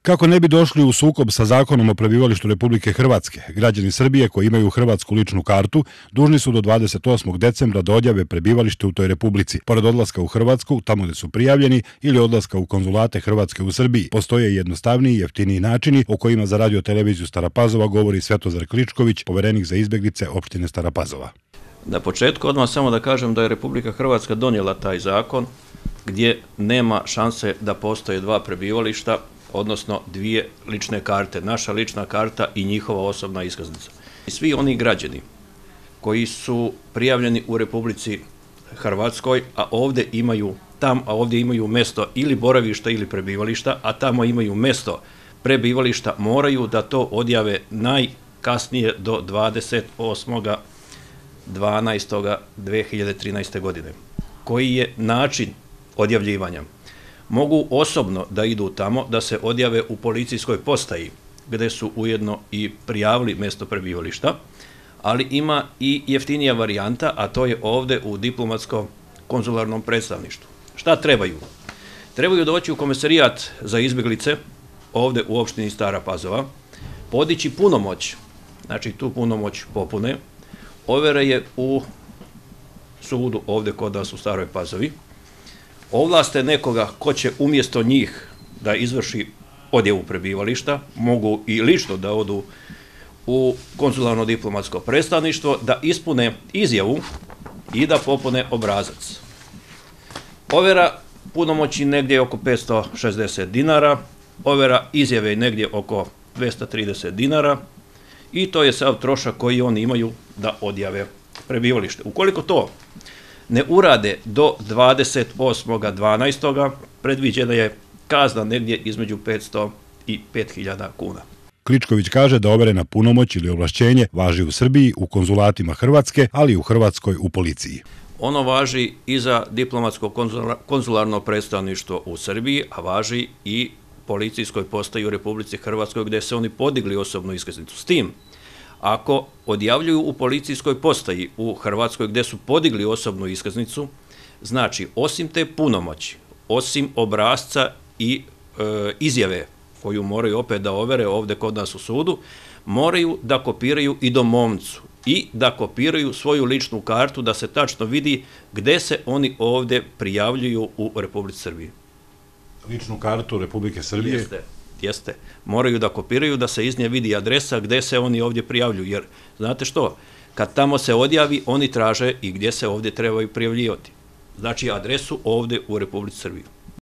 Kako ne bi došli u sukob sa zakonom o prebivalištu Republike Hrvatske, građani Srbije koji imaju hrvatsku ličnu kartu dužni su do 28. decembra da odjave prebivalište u toj republici. Pored odlaska u Hrvatsku, tamo gde su prijavljeni, ili odlaska u konzulate Hrvatske u Srbiji, postoje jednostavniji i jeftiniji načini o kojima za radio televiziju Stara Pazova govori Svetozar Kličković, poverenik za izbeglice opštine Stara Pazova. Na početku odmah samo da kažem da je Republika Hrvatska donijela taj zakon gdje nema šanse da postoje dva prebivališta, odnosno dvije lične karte, naša lična karta i njihova osobna iskaznica. Svi oni građani koji su prijavljeni u Republici Hrvatskoj, a ovdje imaju mesto ili boravišta ili prebivališta, a tamo imaju mesto prebivališta, moraju da to odjave najkasnije do 28.12.2013. godine. Koji je način odjavljivanja? Mogu osobno da idu tamo, da se odjave u policijskoj postaji, gde su ujedno i prijavili mesto prebivališta, ali ima i jeftinija varijanta, a to je ovde u diplomatsko-konzularnom predstavništvu. Šta trebaju? Trebaju doći u Komesarijat za izbeglice, ovde u opštini Stara Pazova, podići punomoć, znači tu punomoć popune, overe je u sudu ovde kod nas u Staroj Pazovi, ovlaste nekoga ko će umjesto njih da izvrši odjavu prebivališta, mogu i lično da odu u konzularno-diplomatsko predstavništvo, da ispune izjavu i da popune obrazac. Overa punomoći negdje oko 560 dinara, overa izjave negdje oko 230 dinara i to je sav trošak koji oni imaju da odjave prebivalište. Ukoliko to ne urade do 28.12. predviđena je kazna negdje između 500 i 5.000 kuna. Kličković kaže da overena punomoć ili ovlašćenje važi u Srbiji, u konzulatima Hrvatske, ali i u Hrvatskoj u policiji. Ono važi i za diplomatsko-konzularno predstavništvo u Srbiji, a važi i policijskoj postaji u Republici Hrvatskoj gde se oni podigli osobnu iskaznicu. S tim, ako odjavljuju u policijskoj postaji u Hrvatskoj gde su podigli osobnu iskaznicu, znači osim te punomoći, osim obrazca i izjave koju moraju opet da overe ovde kod nas u sudu, moraju da kopiraju i domovnicu i da kopiraju svoju ličnu kartu da se tačno vidi gde se oni ovde prijavljuju u Republici Srbiji. Ličnu kartu Republike Srbije? Jeste. Moraju da kopiraju, da se iz nje vidi adresa gde se oni ovdje prijavljuju, jer znate što, kad tamo se odjavi, oni traže i gdje se ovdje trebaju prijavljivati. Znači adresu ovdje u Republici Srbiji.